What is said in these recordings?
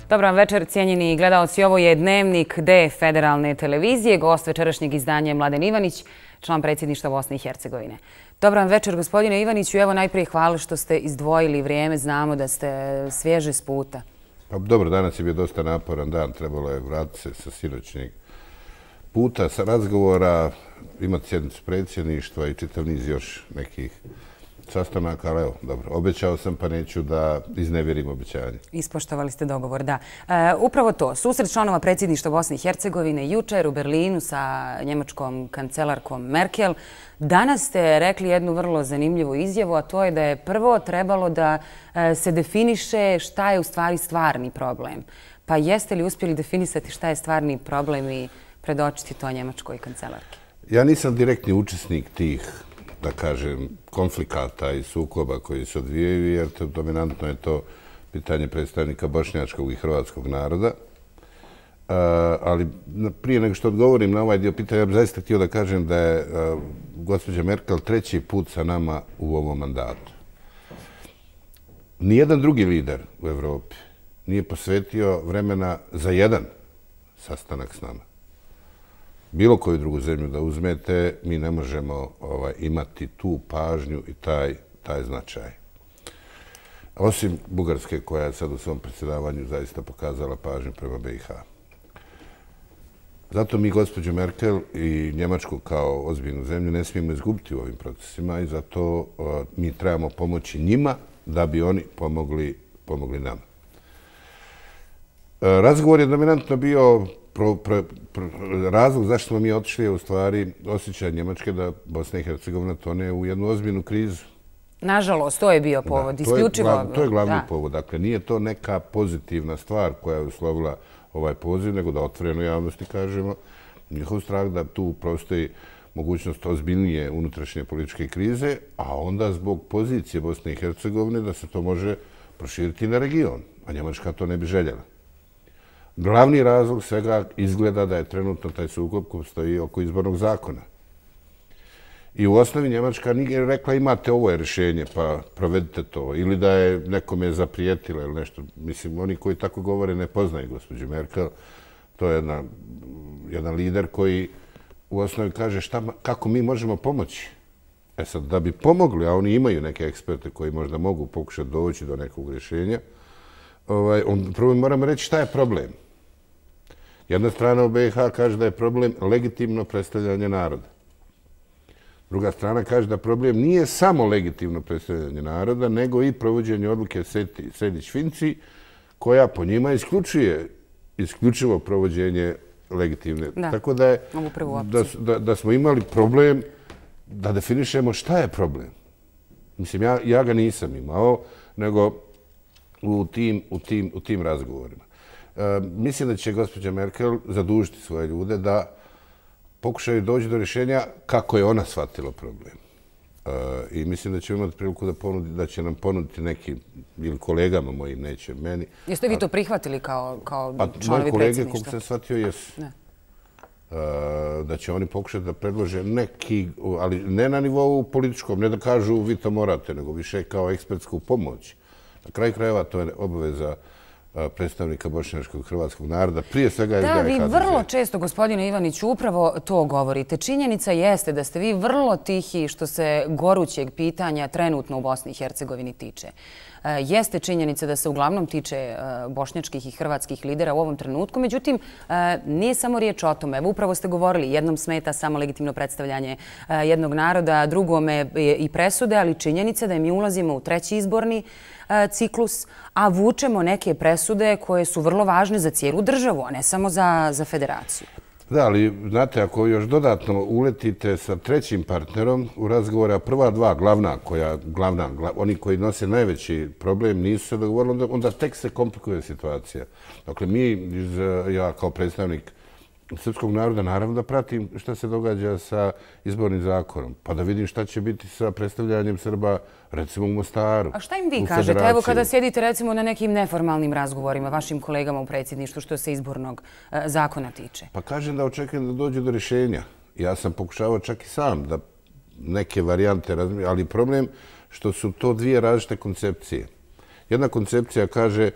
Dobar vam večer, cijenjeni gledaoci. Ovo je Dnevnik D Federalne televizije. Gost večerašnjeg izdanja je Mladen Ivanić, član predsjedništva Bosne i Hercegovine. Dobar vam večer, gospodine Ivaniću. Evo najprije hvala što ste izdvojili vrijeme. Znamo da ste svježe s puta. Pa dobro, danas je bio dosta naporan dan. Trebalo je vratiti se sa sinoćnjeg puta, sa razgovora, imati sjednicu predsjedništva i čitav niz još nekih sastanaka, ali evo, dobro, obećao sam pa neću da iznevjerim obećanje. Ispoštovali ste dogovor, da. Upravo to, susret članova predsjedništva Bosne i Hercegovine jučer u Berlinu sa njemačkom kancelarkom Merkel. Danas ste rekli jednu vrlo zanimljivu izjavu, a to je da je prvo trebalo da se definiše šta je u stvari stvarni problem. Pa jeste li uspjeli definisati šta je stvarni problem i predočiti to njemačkoj kancelarki? Ja nisam direktni učesnik tih, da kažem, konflikata i sukoba koji se odvijaju, jer dominantno je to pitanje predstavnika bošnjačkog i hrvatskog naroda. Ali prije nego što odgovorim na ovaj dio pitanja, ja bih zaista htio da kažem da je gospođa Merkel treći put sa nama u ovom mandatu. Nijedan drugi lider u Evropi nije posvetio vremena za jedan sastanak s nama. Bilo koju drugu zemlju da uzmete, mi ne možemo imati tu pažnju i taj značaj. Osim Bugarske, koja je sad u svom predsjedavanju zaista pokazala pažnju prema BiH. Zato mi gospođu Merkel i Njemačku kao ozbiljnu zemlju ne smijemo izgubiti u ovim procesima i zato mi trebamo pomoći njima da bi oni pomogli nama. Razgovor je dominantno bio razlog zašto smo mi otišli je u stvari osjećaj Njemačke da Bosna i Hercegovina tone u jednu ozbiljnu krizu. Nažalost, to je bio povod. Isključivo. To je glavni povod. Dakle, nije to neka pozitivna stvar koja je uslovila ovaj poziv, nego da otvoreno javnosti kažemo njihov strah da tu postoji mogućnost ozbiljnije unutrašnje političke krize, a onda zbog pozicije Bosne i Hercegovine da se to može proširiti na region, a Njemačka to ne bi željela. Glavni razlog svega izgleda da je trenutno taj sukob koji stoji oko izbornog zakona. I u osnovi Njemačka nije rekla imate ovo je rješenje pa provedite to ili da je nekome zaprijetila ili nešto. Mislim, oni koji tako govore ne poznaju gospođu Merkel. To je jedan lider koji u osnovi kaže kako mi možemo pomoći. E sad, da bi pomogli, a oni imaju neke eksperte koji možda mogu pokušati doći do nekog rješenja, prvo moramo reći šta je problem. Jedna strana u BiH kaže da je problem legitimno predstavljanje naroda. Druga strana kaže da problem nije samo legitimno predstavljanje naroda, nego i provođenje odluke Sejdić-Finci, koja po njima isključivo provođenje legitimne. Tako da smo imali problem da definišemo šta je problem. Mislim, ja ga nisam imao, nego u tim razgovorima. Mislim da će gospođa Merkel zadužiti svoje ljude da pokušaju doći do rješenja kako je ona shvatila problem. I mislim da ćemo imati priliku da će nam ponuditi neki, ili kolegama mojim, neće meni. Jeste vi to prihvatili kao članovi predsjedništva? Kolege, koliko sam shvatio, jesu. Da će oni pokušati da predlože neki, ali ne na nivou političkom, ne da kažu vi to morate, nego više kao ekspertsku pomoć. Na kraju krajeva to je obaveza predstavnika bošnjačkog hrvatskog naroda, prije svega SDA i HDZ. Da, vi vrlo često, gospodine Ivaniću, upravo to govorite. Činjenica jeste da ste vi vrlo tihi što se gorućeg pitanja trenutno u Bosni i Hercegovini tiče. Jeste činjenica da se uglavnom tiče bošnjačkih i hrvatskih lidera u ovom trenutku, međutim, nije samo riječ o tome. Evo, upravo ste govorili, jednom smeta samo legitimno predstavljanje jednog naroda, drugome i presude, ali činjenica da mi ulazimo u treći izborni ciklus, a vučemo neke presude koje su vrlo važne za cijelu državu, a ne samo za federaciju. Da, ali znate, ako još dodatno uletite sa trećim partnerom u razgovore, prva dva glavna, oni koji nose najveći problem nisu se dogovorili, onda tek se komplikuje situacija. Dakle, ja kao predstavnik srpskog naroda naravno da pratim šta se događa sa izbornim zakonom, pa da vidim šta će biti sa predstavljanjem Srba, recimo u Mostaru. A šta im vi kažete? Evo kada sjedite recimo na nekim neformalnim razgovorima vašim kolegama u predsjedništvu što se izbornog zakona tiče. Pa kažem da očekujem da dođe do rješenja. Ja sam pokušavao čak i sam da neke varijante razmišljam, ali problem što su to dvije različite koncepcije. Jedna koncepcija kaže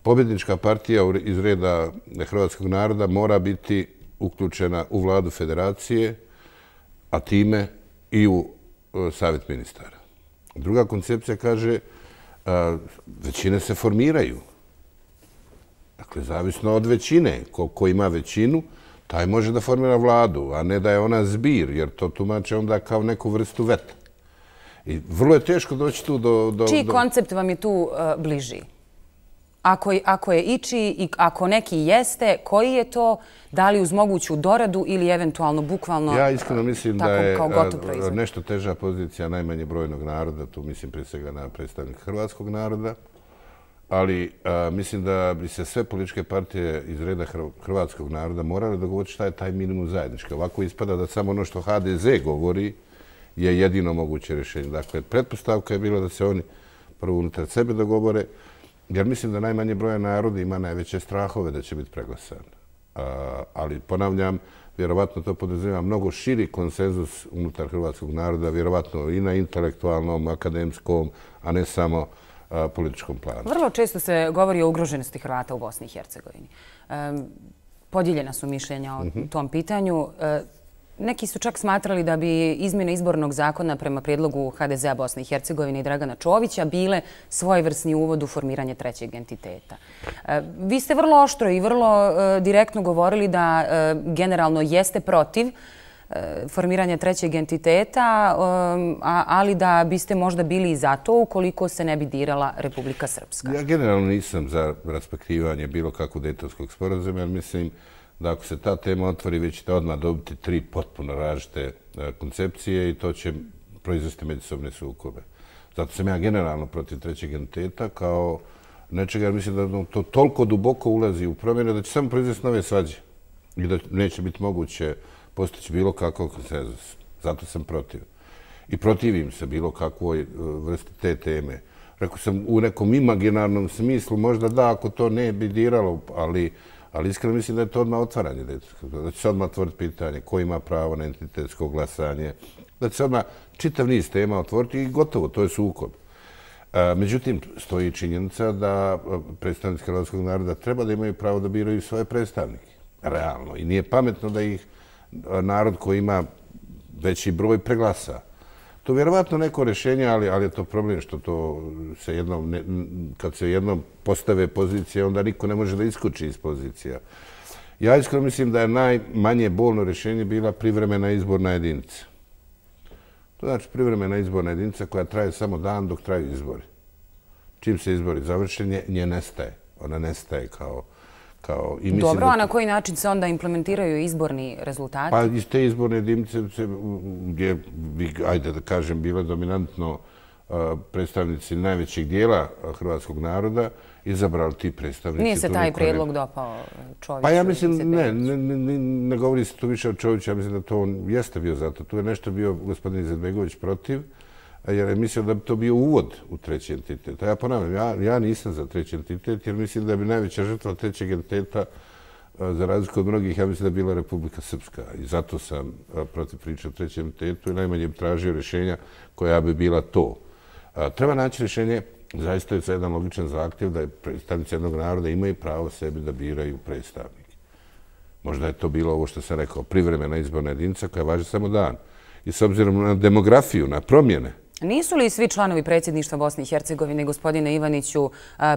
pobjednička partija iz reda hrvatskog naroda mora biti uključena u vladu federacije, a time i u savjet ministara. Druga koncepcija kaže većine se formiraju. Dakle, zavisno od većine. Ko ima većinu, taj može da formira vladu, a ne da je ona zbir, jer to tumače onda kao neku vrstu veta. I vrlo je teško doći tu do... Čiji koncept vam je tu bliži? Ako je ičiji i ako neki jeste, koji je to, da li uz moguću doradu ili eventualno bukvalno ja iskreno mislim da je proizvod? Nešto teža pozicija najmanje brojnog naroda, tu mislim prije svega na predstavnika hrvatskog naroda, ali mislim da bi se sve političke partije iz reda hrvatskog naroda morale dogovoriti šta je taj minimum zajednički. Ovako ispada da samo ono što HDZ govori je jedino moguće rješenje. Dakle, pretpostavka je bila da se oni prvo unutar sebe dogovore, jer mislim da najmanje broja naroda ima najveće strahove da će biti preglasan. Ali ponavljam, vjerovatno to podrazumijeva mnogo širi konsenzus unutar hrvatskog naroda, vjerovatno i na intelektualnom, akademskom, a ne samo političkom planu. Vrlo često se govori o ugroženosti Hrvata u Bosni i Hercegovini. Podijeljena su mišljenja o tom pitanju. Neki su čak smatrali da bi izmjene izbornog zakona prema prijedlogu HDZ-a Bosne i Hercegovine i Dragana Čovića bile svojevrsni uvod u formiranje trećeg entiteta. Vi ste vrlo oštro i vrlo direktno govorili da generalno jeste protiv formiranja trećeg entiteta, ali da biste možda bili i za to ukoliko se ne bi dirala Republika Srpska. Ja generalno nisam za raspektivanje bilo kakvog Dejtonskog sporazuma, jer mislim da ako se ta tema otvori, vi ćete odmah dobiti 3 potpuno različite koncepcije i to će proizvesti međusobne sukobe. Zato sam ja generalno protiv trećeg entiteta kao nečega, jer mislim da to toliko duboko ulazi u promjene da će samo proizvesti nove svađe i da neće biti moguće postići bilo kakav konsenzus. Zato sam protiv. I protivim se bilo kakvoj vrsti te teme. Rekao sam u nekom imaginarnom smislu, možda da, ako to ne bi diralo, ali iskreno mislim da je to odmah otvaranje. Da će se odmah otvoriti pitanje ko ima pravo na entitetsko glasanje. Da će se odmah čitav niz tema otvoriti i gotovo, to je sukob. Međutim, stoji činjenica da predstavnici hrvatskog naroda treba da imaju pravo da biraju svoje predstavnike. Realno. I nije pametno da ih narod koji ima veći broj preglasa. To je vjerovatno neko rješenje, ali je to problem što to se jednom, kad se jednom postave pozicije, onda niko ne može da iskuči iz pozicija. Ja iskreno mislim da je najmanje bolno rješenje bila privremena izborna jedinica. To znači privremena izborna jedinica koja traje samo dan dok traju izbori. Čim se izbori završenje, nje nestaje. Ona nestaje kao... Dobro, a na koji način se onda implementiraju izborni rezultati? Pa iz te izborne jedinice gdje bi, ajde da kažem, bile dominantno predstavnici najvećeg dijela hrvatskog naroda, izabrali ti predstavnici. Nije se taj prijedlog dopao Čoviću? Pa ja mislim, ne govori se tu više o Čoviću, ja mislim da to on jeste bio zato. Tu je nešto bio gospodin Izetbegović protiv, jer je mislio da bi to bio uvod u treći entitet. A ja ponavljam, ja nisam za treći entitet, jer mislim da bi najveća žrtva trećeg entiteta, za razliku od mnogih, ja mislim da je bila Republika Srpska. I zato sam protiv priče o trećem entitetu i najmanje bi tražio rješenja koja bi bila to. Treba naći rješenje, zaista je za jedan logičan zahtjev da predstavnici jednog naroda imaju pravo sebi da biraju predstavnike. Možda je to bilo ovo što sam rekao, privremena izborna jedinica koja važi samo dan. I s obzirom na demografiju, na promjene. Nisu li svi članovi predsjedništva Bosne i Hercegovine, gospodine Ivaniću,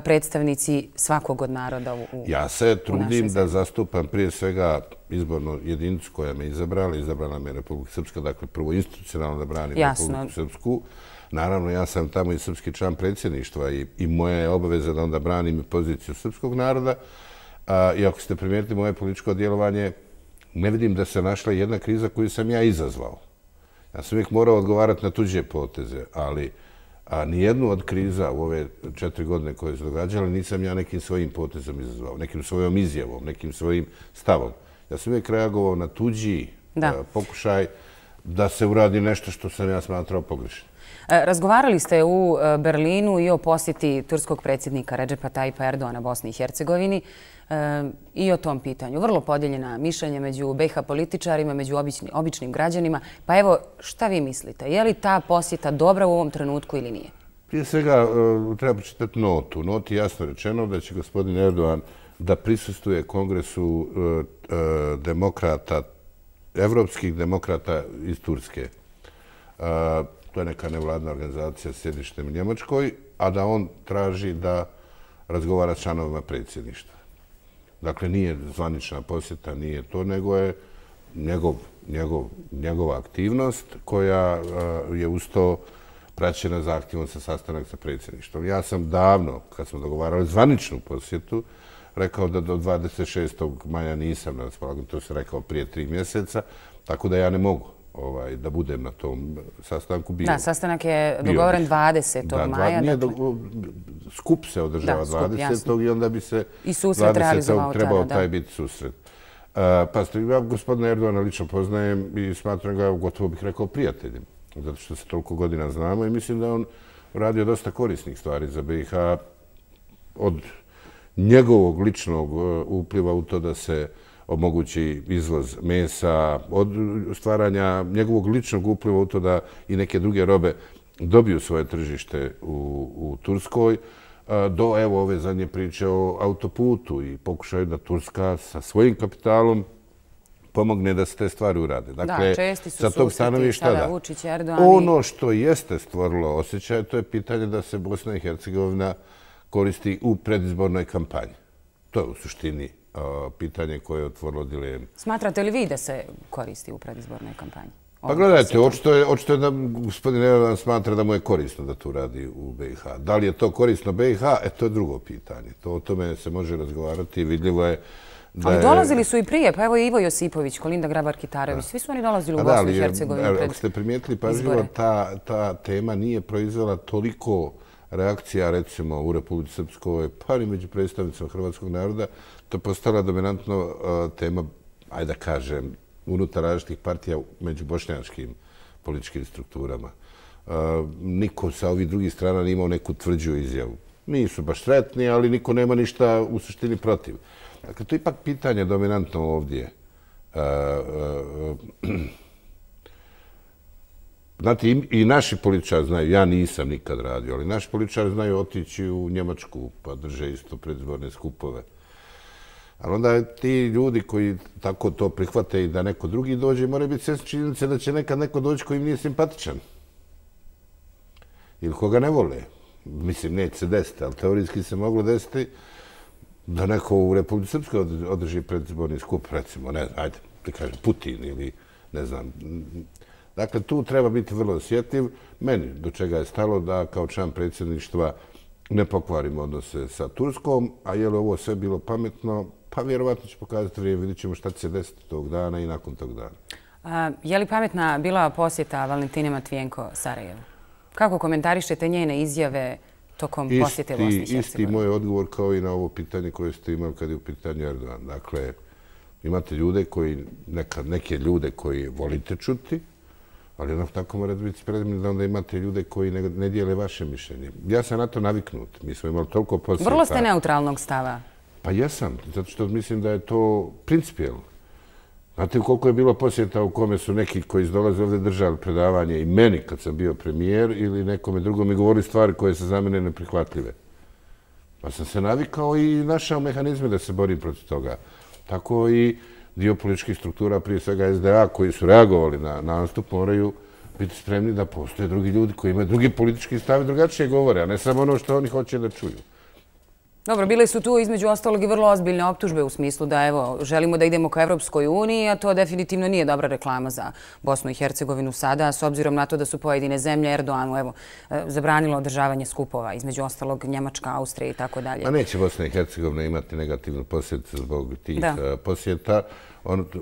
predstavnici svakog od naroda u našoj zemlji? Ja se trudim da zastupam prije svega izbornu jedinicu koja me izabrala me Republika Srpska, dakle prvo institucionalno da branim Republiku Srpsku. Naravno, ja sam tamo i srpski član predsjedništva i moja je obaveza da onda branim poziciju srpskog naroda. I ako ste primijetili moje političko djelovanje, ne vidim da se našla jedna kriza koju sam ja izazvao. Ja sam uvijek morao odgovarati na tuđe poteze, ali nijednu od kriza u ove 4 godine koje su događale nisam ja nekim svojim potezom izazvao, nekim svojom izjavom, nekim svojim stavom. Ja sam uvijek reagovao na tuđi pokušaj da se uradi nešto što sam ja smatrao pogrešno. Razgovarali ste u Berlinu i o posjeti turskog predsjednika Redžepa Tajipa Erdoana Bosni i Hercegovini i o tom pitanju. Vrlo podijeljena mišljenja među BiH političarima, među običnim građanima. Pa evo, šta vi mislite? Je li ta posjeta dobra u ovom trenutku ili nije? Prije svega treba pročitati notu. U noti je jasno rečeno da će gospodin Erdogan da prisustvuje kongresu demokrata, evropskih demokrata iz Turske. To je neka nevladna organizacija s sjedištem u Njemačkoj, a da on traži da razgovara s članovima predsjedništva. Dakle, nije zvanična posjeta, nije to, nego je njegova aktivnost koja je uz to praćena zahtjevom za sastanak sa predsjedništvom. Ja sam davno, kad smo dogovarali zvaničnu posjetu, rekao da do 26. maja nisam na raspolaganju, to sam rekao prije 3 mjeseca, tako da ja ne mogu da budem na tom sastanku. Da, sastanak je dogovoren 20. maja. Skup se održava 20. i onda bi se 20. trebao taj biti susret. Pa ja gospodina Erdogana lično poznajem i smatram ga, gotovo bih rekao, prijateljem, zato što se toliko godina znamo i mislim da on radio dosta korisnih stvari za BiH od njegovog ličnog upliva u to da se omogući izvoz mesa, od stvaranja njegovog ličnog upliva u to da i neke druge robe dobiju svoje tržište u Turskoj, do evo ove zadnje priče o autoputu i pokušaju da Turska sa svojim kapitalom pomogne da se te stvari urade. Dakle, česti su susreti sada Vučić, Erdogan. Ono što jeste stvorilo osjećaj, to je pitanje da se Bosna i Hercegovina koristi u predizbornoj kampanji. To je u suštini pitanje koje je otvorilo dilemu. Smatrate li vi da se koristi u predizbornoj kampanji? Pa gledajte, očito je da gospodin Erdogan smatra da mu je korisno da to radi u BiH. Da li je to korisno BiH? To je drugo pitanje. O tome se može razgovarati. Vidljivo je da je... Ali dolazili su i prije. Pa evo i Ivo Josipović, Kolinda Grabar-Kitarović. Svi su oni dolazili u Bosnu i Hercegovinu pred izbore. Ako ste primijetili pažljivo, ta tema nije proizvela toliko reakcija, recimo, u Republici Srpskoj, pa i među predstavnicima hrvatskog naroda. To je postala dominantno tema, ajde da kažem, unutar različitih partija među bošnjačkim političkim strukturama. Niko sa ovih drugih strana nije imao neku tvrđu izjavu. Nisu baš sretni, ali niko nema ništa u suštini protiv. Dakle, to je ipak pitanje dominantno ovdje. Znate, i naši političari znaju, ja nisam nikad radio, ali naši političari znaju otići u Njemačku pa drže isto predizborne skupove. Ali onda ti ljudi koji tako to prihvate i da neko drugi dođe, moraju biti svjesni činjenice da će nekad neko doći koji im nije simpatičan. Ili koga ne vole. Mislim, neće se desiti, ali teorijski se moglo desiti da neko u Republici Srpskoj održi predizborni skup, recimo, ne znam, ajde, ti kažem, Putin ili ne znam. Dakle, tu treba biti vrlo osjetljiv. Meni do čega je stalo da kao član predsjedništva ne pokvarimo odnose sa Turskom, a je li ovo sve bilo pametno? Pa vjerovatno će pokazati vrijeme, vidjet ćemo šta će se desiti tog dana i nakon tog dana. Je li pametna bila posjeta Valentine Matvijenko Sarajevu? Kako komentarišete njene izjave tokom posjete Bosne i Hercegovine? Isti moj odgovor kao i na ovo pitanje koje ste imali kad je u pitanju Erdogan. Dakle, imate ljude koji, neke ljude koji volite čuti, ali jednako tako morate biti spremni da onda imate ljude koji ne dijele vaše mišljenje. Ja sam na to naviknut. Mi smo imali toliko posjeta. Vrlo ste neutralnog stava. Pa jesam, zato što mislim da je to principijelno. Znate koliko je bilo posjeta u kome su neki koji dolaze ovdje držali predavanje i meni kad sam bio premijer ili nekome drugom i govorili stvari koje su za mene neprihvatljive. Pa sam se navikao i našao mehanizme da se borim protiv toga. Tako i dio političkih struktura, prije svega SDA, koji su reagovali na nastup, moraju biti spremni da postoje drugi ljudi koji imaju drugi politički stav i drugačije govore, a ne samo ono što oni hoće da čuju. Dobro, bile su tu između ostalog i vrlo ozbiljne optužbe u smislu da evo, želimo da idemo ka Evropskoj uniji, a to definitivno nije dobra reklama za Bosnu i Hercegovinu sada, s obzirom na to da su pojedine zemlje Erdoganu zabranilo održavanje skupova, između ostalog Njemačka, Austrija i tako dalje. A neće Bosna i Hercegovina imati negativnu posjeticu zbog tih posjeta.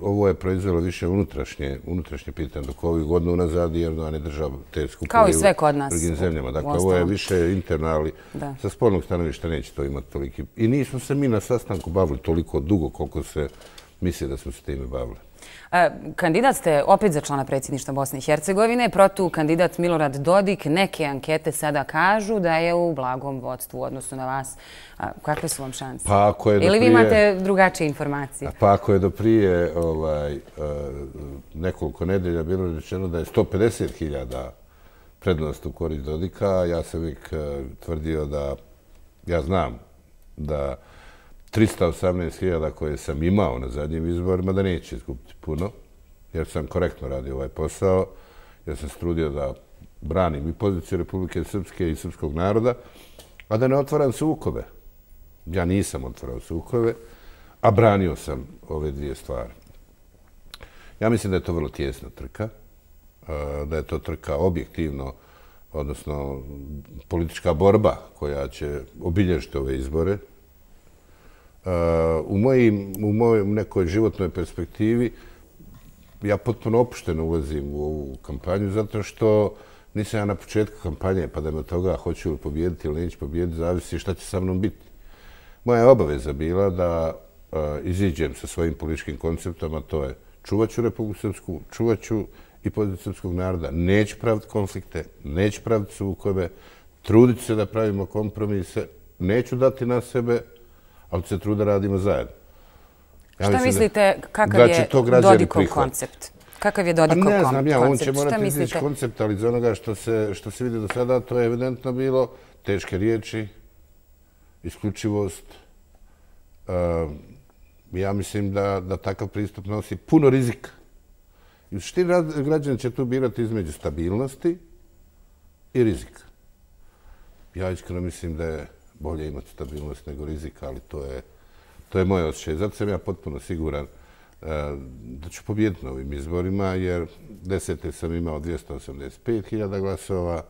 Ovo je proizvelo više unutrašnje pitanje dok ovih godina unazad i Erdogan je držao te skupove u drugim zemljama. Dakle, ovo je više interno, ali sa spoljnog stanovišta neće to imati toliki. I nismo se mi na sastanku bavili toliko dugo koliko se misli da smo se time bavili. Kandidat ste opet za člana predsjedništva Bosne i Hercegovine, protukandidat Milorad Dodik. Neke ankete sada kažu da je u blagom vodstvu u odnosu na vas. Kakve su vam šanse? Ili vi imate drugačije informacije? Pa ako je do prije nekoliko nedelja bilo rečeno da je 150.000 prednost u korist Dodika. Ja sam uvijek tvrdio da, ja znam da 318.000 koje sam imao na zadnjim izborima da neće izgubiti puno, jer sam korektno radio ovaj posao, jer sam se trudio da branim i poziciju Republike Srpske i srpskog naroda, a da ne otvaram sukobe. Ja nisam otvarao sukobe, a branio sam ove dvije stvari. Ja mislim da je to vrlo tijesna trka, da je to trka objektivno, odnosno politička borba koja će obilježiti ove izbore. U mojoj nekoj životnoj perspektivi ja potpuno opušteno ulazim u ovu kampanju zato što nisam ja na početku kampanje, pa da me od toga hoću li pobijediti ili neću pobijediti, zavisi šta će sa mnom biti. Moja je obaveza bila da iziđem sa svojim političkim konceptom, a to je čuvat ću Republiku Srpsku, čuvat ću i poziciju srpskog naroda, neću praviti konflikte, neću praviti sukobe, trudit se da pravimo kompromise, neću dati na sebe, ali se trud da radimo zajedno. Šta mislite, kakav je Dodikov koncept? Kakav je Dodikov koncept? Ne znam ja, on će morati izići koncept, ali iz onoga što se vidi do sada, to je evidentno bilo teške riječi, isključivost. Ja mislim da takav pristup nosi puno rizika. I u suštini građani će tu birati između stabilnosti i rizika. Ja iskreno mislim da je bolje imati stabilnost nego rizika, ali to je moj osjećaj. Zato sam ja potpuno siguran da ću pobijediti na ovim izborima, jer 10. sam imao 285.000 glasova,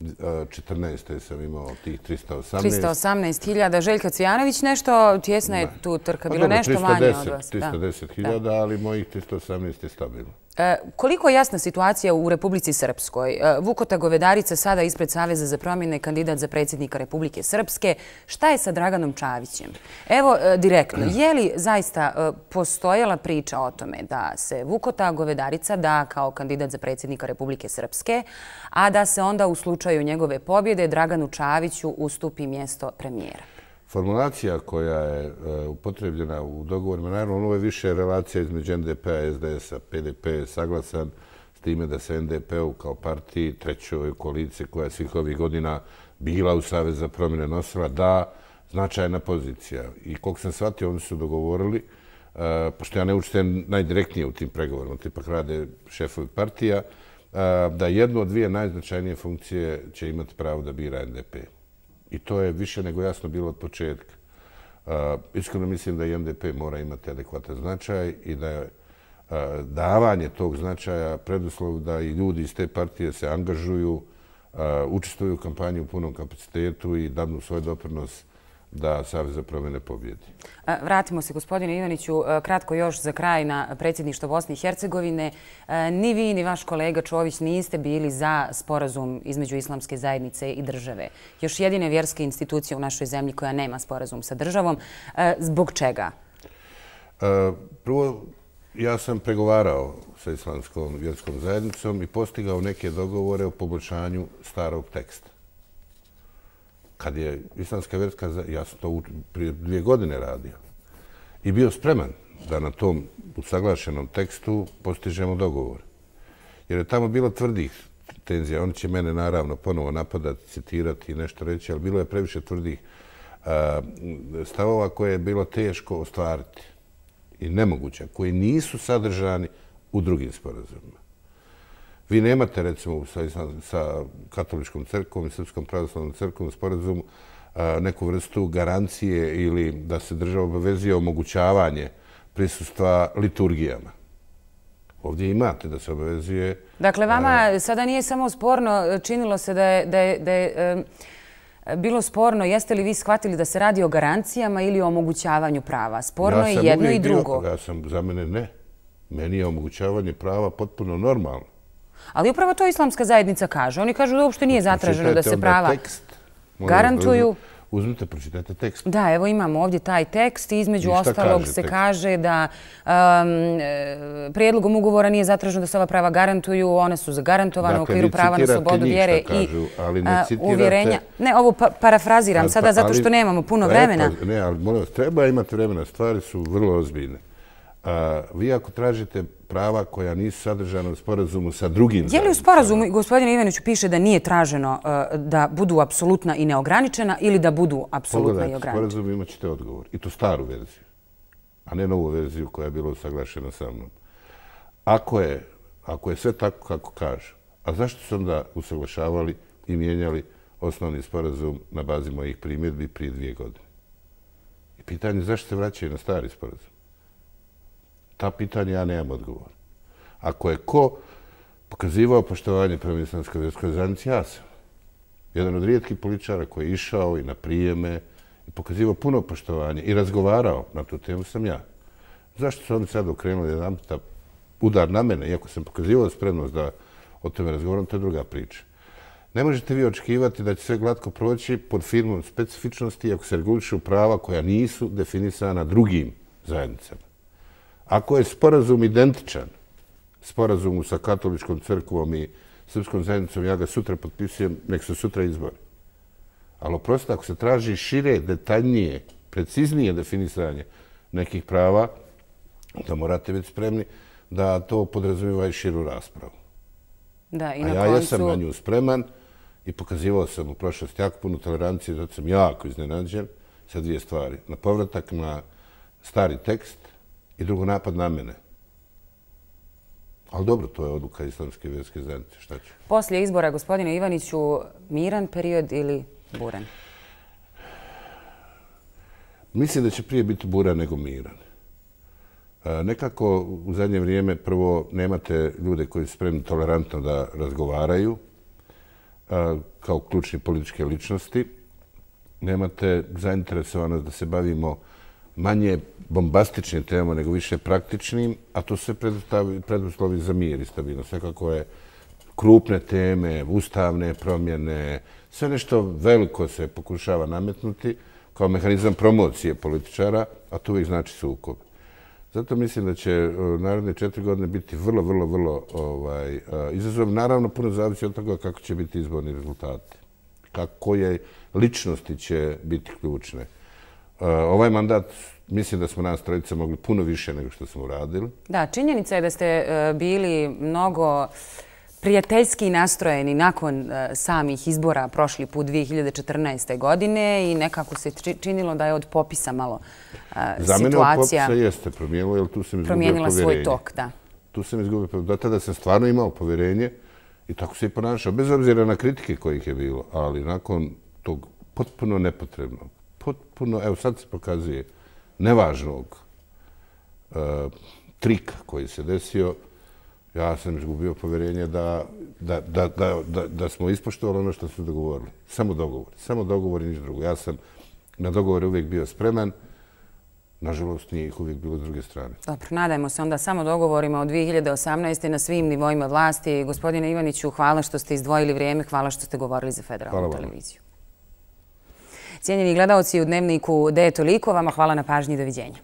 14. sam imao tih 318. 318.000. Željko Cvijanović, nešto tjesna je tu trka, bilo nešto manje od vas. 310.000, ali mojih 318 je stabilno. Koliko je jasna situacija u Republici Srpskoj? Vukota Govedarica sada ispred Saveza za promjene, kandidat za predsjednika Republike Srpske. Šta je sa Draganom Čavićem? Evo, direktno, je li zaista postojala priča o tome da se Vukota Govedarica da kao kandidat za predsjednika Republike Srpske, a da se onda u slučaju njegove pobjede Draganu Čaviću ustupi mjesto premijera? Formulacija koja je upotrebljena u dogovorima, naravno, ovo je više relacija između NDP-a, SDS-a. PDP je saglasan s time da se NDP-u kao partiji, trećoj koaliciji koja je svih ovih godina bila u Savez za promjene nosila, da značajna pozicija. I koliko sam shvatio, oni su dogovorili, pošto ja ne učestvujem najdirektnije u tim pregovorima, ipak rade šefovi partija, da jednu od dvije najznačajnije funkcije će imati pravo da bira NDP. I to je više nego jasno bilo od početka. Iskreno mislim da i NDP mora imati adekvatan značaj i da je davanje tog značaja preduslov da i ljudi iz te partije se angažuju, učestvuju u kampanji u punom kapacitetu i dadnu svoj doprinos da Savez za promjene pobjedi. Vratimo se, gospodine Ivaniću, kratko još za kraj na predsjedništvo Bosne i Hercegovine. Ni vi, ni vaš kolega Čović niste bili za sporazum između islamske zajednice i države. Još jedine vjerske institucije u našoj zemlji koja nema sporazum sa državom. Zbog čega? Prvo, ja sam pregovarao sa islamskom vjerskom zajednicom i postigao neke dogovore o poboljšanju starog teksta. Kad je islamska vjerska, ja sam to prije 2 godine radio i bio spreman da na tom usaglašenom tekstu postižemo dogovor. Jer je tamo bilo tvrdih tenzija. Oni će mene naravno ponovo napadati, citirati i nešto reći, ali bilo je previše tvrdih stavova koje je bilo teško ostvariti i nemoguće, koji nisu sadržani u drugim sporazumima. Vi nemate, recimo, sa Katoličkom crkvom i Srpskom pravoslavnom crkvom u sporazumu neku vrstu garancije ili da se država obavezuje omogućavanje prisustva liturgijama. Ovdje imate da se obavezuje... Dakle, vama sada nije samo sporno, činilo se da je bilo sporno, jeste li vi shvatili da se radi o garancijama ili o omogućavanju prava? Sporno je jedno i drugo. Za mene ne. Meni je omogućavanje prava potpuno normalno. Ali upravo to islamska zajednica kaže. Oni kažu da uopšte nije zatraženo da se prava garantuju. Uzmite, pročitajte tekst. Da, evo imamo ovdje taj tekst i između ostalog se kaže da prijedlogom ugovora nije zatraženo da se ova prava garantuju, one su zagarantovane u okviru prava na slobodu vjere i uvjerenja. Ne, ovo parafraziram sada zato što nemamo puno vremena. Ne, ali molim vas, treba imati vremena, stvari su vrlo ozbiljne. Vi ako tražite prava koja nisu sadržana u sporazumu sa drugim zajednicama... Je li u sporazumu, gospodine Ivaniću, piše da nije traženo da budu apsolutna i neograničena ili da budu apsolutna i ograničena? Pogledajte, sporazum imat ćete odgovor. I to staru verziju, a ne novu verziju koja je bila usaglašena sa mnom. Ako je sve tako kako kaže, a zašto su onda usaglašavali i mijenjali osnovni sporazum na bazi mojih primjedbi prije 2 godine? I pitanje je zašto se vraćaju na stari sporazum? Ta pitanja ja nemam odgovor. Ako je ko pokazivao poštovanje prema Islamskoj vjerskoj zajednici, ja sam. Jedan od rijetkih političara koji je išao i na prijeme i pokazivao puno poštovanje i razgovarao na tu temu sam ja. Zašto su oni sad okrenuli jedan udar na mene, iako sam pokazivao spremnost da o tome razgovaram, to je druga priča. Ne možete vi očekivati da će sve glatko proći pod firmom specifičnosti ako se regulišu prava koja nisu definisana drugim zajednicama. Ako je sporazum identičan sporazumu sa katoličkom crkvom i srpskom zajednicom, ja ga sutra potpisujem, nek se sutra izbori. Ali oprosto, ako se traži šire, detaljnije, preciznije definisanje nekih prava, onda morate biti spremni da to podrazumijeva i širu raspravu. A ja jesam na nju spreman i pokazivao sam u prošlosti jako puno tolerancije, zato sam jako iznenađen sa 2 stvari. Na povratak na stari tekst i drugo napad na mene. Ali dobro, to je odluka Islamske vjerske zajednice. Šta ću? Poslije izbora, gospodine Ivaniću, miran period ili buran? Mislim da će prije biti buran nego miran. Nekako u zadnje vrijeme prvo nemate ljude koji su spremni tolerantno da razgovaraju kao ključni političke ličnosti. Nemate zainteresovanost da se bavimo manje bombastičnim temama nego više praktičnim, a to sve preduslovi za mir i stabilnost. Svekako je krupne teme, ustavne promjene, sve nešto veliko se pokušava nametnuti kao mehanizam promocije političara, a to uvijek znači sukob. Zato mislim da će naredne 4 godine biti vrlo izazov. Naravno, puno zavisi od toga kako će biti izborni rezultati. Koje ličnosti će biti ključne. Ovaj mandat, mislim da smo nas trojica mogli puno više nego što smo uradili. Da, činjenica je da ste bili mnogo prijateljski nastrojeni nakon samih izbora prošli put 2014. godine i nekako se činilo da je od popisa malo situacija... Za mene od popisa jeste promijenilo, jer tu sam izgubio povjerenje. Promijenila svoj tok, da. Tu sam izgubio povjerenje. Do tada sam stvarno imao povjerenje i tako se i ponašao, bez obzira na kritike kojih je bilo, ali nakon tog potpuno nepotrebnog, potpuno, evo sad se pokazuje, nevažnog trika koji se desio, ja sam izgubio povjerenje da smo ispoštovali ono što smo dogovorili. Samo dogovor i ništa drugo. Ja sam na dogovore uvijek bio spreman, nažalost nije ih uvijek bilo s druge strane. Dobro, nadajmo se onda samo dogovorima od 2018. na svim nivoima vlasti. Gospodine Ivaniću, hvala što ste izdvojili vrijeme, hvala što ste govorili za Federalnu televiziju. Cijenjeni gledaoci u Dnevniku, da je toliko. Vama hvala na pažnji i doviđenja.